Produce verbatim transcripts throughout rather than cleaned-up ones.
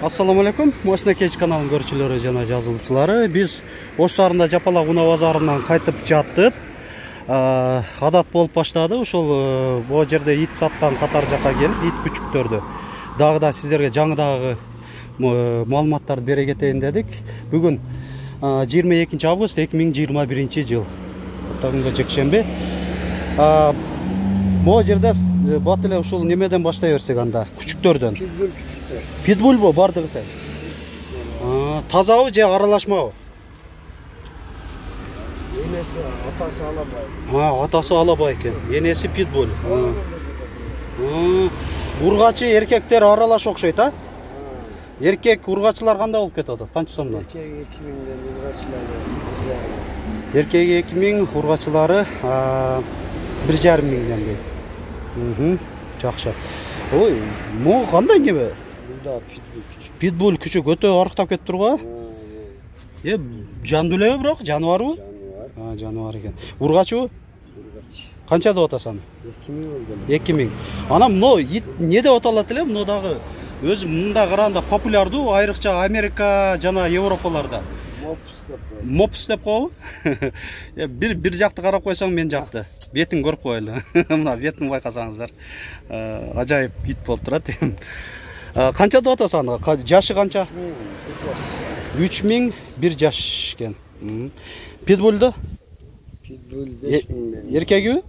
Ассаламу алейкум. Мощный кеч каналынын көрүүчүлөрү жана жазуучулары. Биз Ош шаарында Жапалак унаа базарынан кайтып жаттык. Адат болуп баштады. Ошол бул жерде ит саткан катар жака келип, ит күчүктөрдү дагы да сиздерге жаңыдагы маалыматтарды бере кетейин дедик. Бүгүн жыйырма экинчи август эки миң жыйырма биринчи жыл. Таңда жекшемби. Бул жерде бат эле ушул немеден баштай берсек анда, күчүктөрдөн. Питбуль күчүктөр. Питбуль бу бардыгы тең. Тазабы же аралашмабы? Энеси атасы алабай. А, атасы алабай экен. Энеси питбуль. Ургачы эркектер аралаш окшойт, а? Эркек ургачылар кандай болуп кетип атат? Канча сомдон? Эркек эки миңден, ургачылары Эркек эки миң, ургачылары бир жарым миңден дейт. Мм, жакшы. Ой, могу кандай неме? Мында питбуль күчүк. Питбуль күчүк өтө арыктап кетип турго. Э, жандуу элеби бирок, жаныбарбы? Жаныбар. А, жаныбар экен. Ургачыбы? Ургач. Канча деп атасың? эки миң болгон. эки миң. Анан мына ит не деп аталат эле? Мына дагы өзү мында караганда популярдуу, айрыкча Америка жана Европаларда. Мопс деп коет. Мопс деп коебу? Бир бир жакты карап койсоң мен жакты. Бетин көрүп коелу. Мына бетин байкасаңыздар. Ажайып ит болуп турат. Канча деп атасың? Жашы канча? үч миң бир жаш экен. Питбульду? Питбуль беш миңден. Эркеги?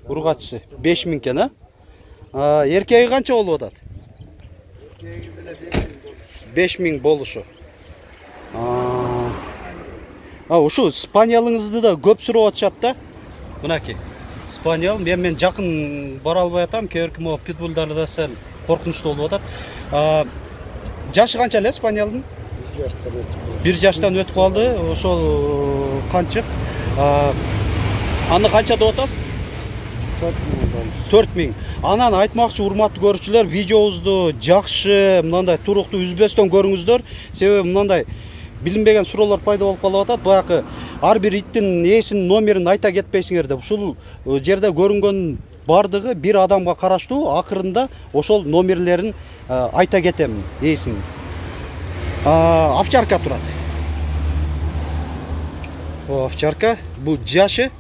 Ургачысы беш миң экен, а? Эркеги канча болуп атат? Эркеги деле беш миң болушу. А, ушу спаниялыңызды да көп сурап атышат да. Мынаки. Спаниал, мен мен жакын бара албай атам, кээ бирки питбульдарды да сел коркунучтуу болуп атат. Жашы канча эле спаниалдын? бир жаштан өтүп. бир жаштан өтүп калды. Ошол канчык? Аны канча деп атасыз? төрт миң. Анан айтмакчы урматтуу көрүүчүлөр, видеобузду жакшы, мындай туруктуу үзбөстөн көрүңүздөр. Себеби мындай билинбеген суроолор пайда болуп калып атат. Баягы ар бир иттин ээсинин номерин айта кетпейсиңер деп. Ушул жерде көрүнгөн бардыгы бир адамга караштуу. Акырында ошол номерлерин айта кетем ээсин. Овчарка турат. О, овчарка. Бу жашы?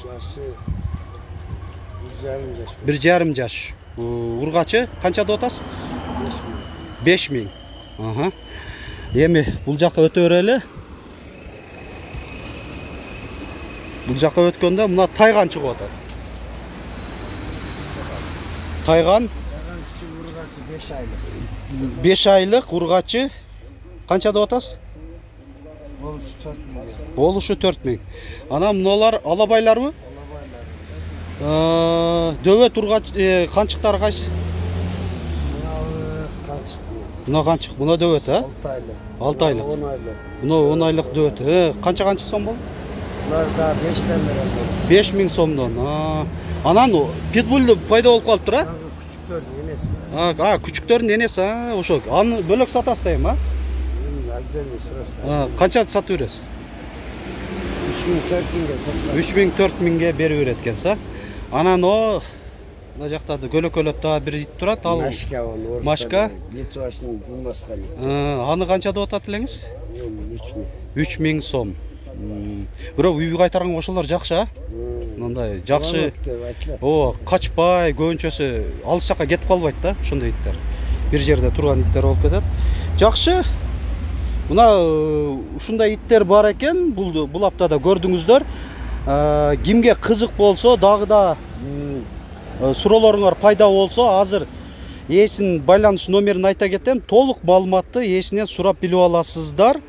Жашы бир жарым жаш. бир жарым жаш. Ургачы канча деп атасыз? беш миң. Аха. Эми бул жакка өтө берели. Бул жакка өткөндө мына тайган чыгып атат. Тайган Тайган күчүк ургачы беш айлык. беш айлык ургачы канча деп атасыз? Болушу төрт миң. Болушу төрт миң. Анан мыналар алабайларбы? Алабайлар. Дөбөт ургач канчыктары кайсы? Мына канчык. Мына канчык, мына дөбөт, а? алты айлык. алты айлык. он айлык. Мына он айлык дөбөт. Э, канча канча сом болду? Булар да бештен берет. беш миң сомдон. Анан питбуль пайда болуп калыптыр, а? Күчүктөрдүн энеси. А, күчүктөрдүн энеси, а, ошо. Аны бөлөк сатасыз дейм, а? Отдельный сураса. Канча сатып бересиз? үч миң төрт миңге сатып. үч миң төрт миңге берип берет экенсиз, а? Анан о мына жакта көлөкөлөп да бир ит турат, ал Машка болду. Машка? Литваштын Думасканы. Аны канча деп атат элеңиз? үч миң. үч миң сом. Бирок үйгө кайтарганга ошолор жакшы, а? Мындай жакшы. О, качпай, көбүнчөсү алыс жакка кетип калбайт да, ошондой иттер. Бир жерде турган иттер болуп кетет. Жакшы. Мына ушундай иттер бар экен. Бул бул аптада көрдүңүздөр. Кимге кызык болсо, дагы да суроолоруңар пайда болсо, азыр ээсинин байланыш номерин айта кетем. Толук маалыматты ээсинен сурап билип аласыздар.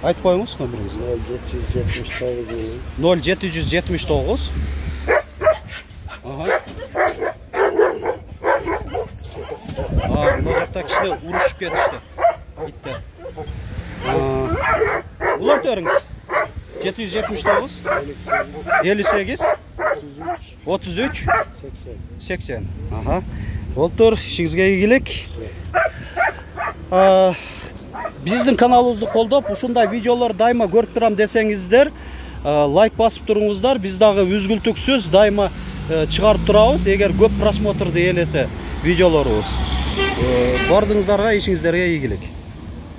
Айтып коюңуз номериңизди. ноль жети жүз жетимиш тогуз. ноль жети жүз жетимиш тогуз. Ага. Мына жакта кишилер урушуп кетишти. Иттер. Улантырыңыз. жети жүз жетимиш тогуз. элүү сегиз. отуз үч. сексен. Ага. Болуптур, ишиңизге ийгилик. Биздин каналыбызды колдоп, ушундай видеолор дайыма көрүп турам десеңиздер, лайк басып туруңуздар. Биз дагы үзгүлтүксүз дайыма чыгарып турабыз, эгер көп просмотрду ээлесе видеолорубуз. Бардыңыздарга ишиңиздерге ийгилик.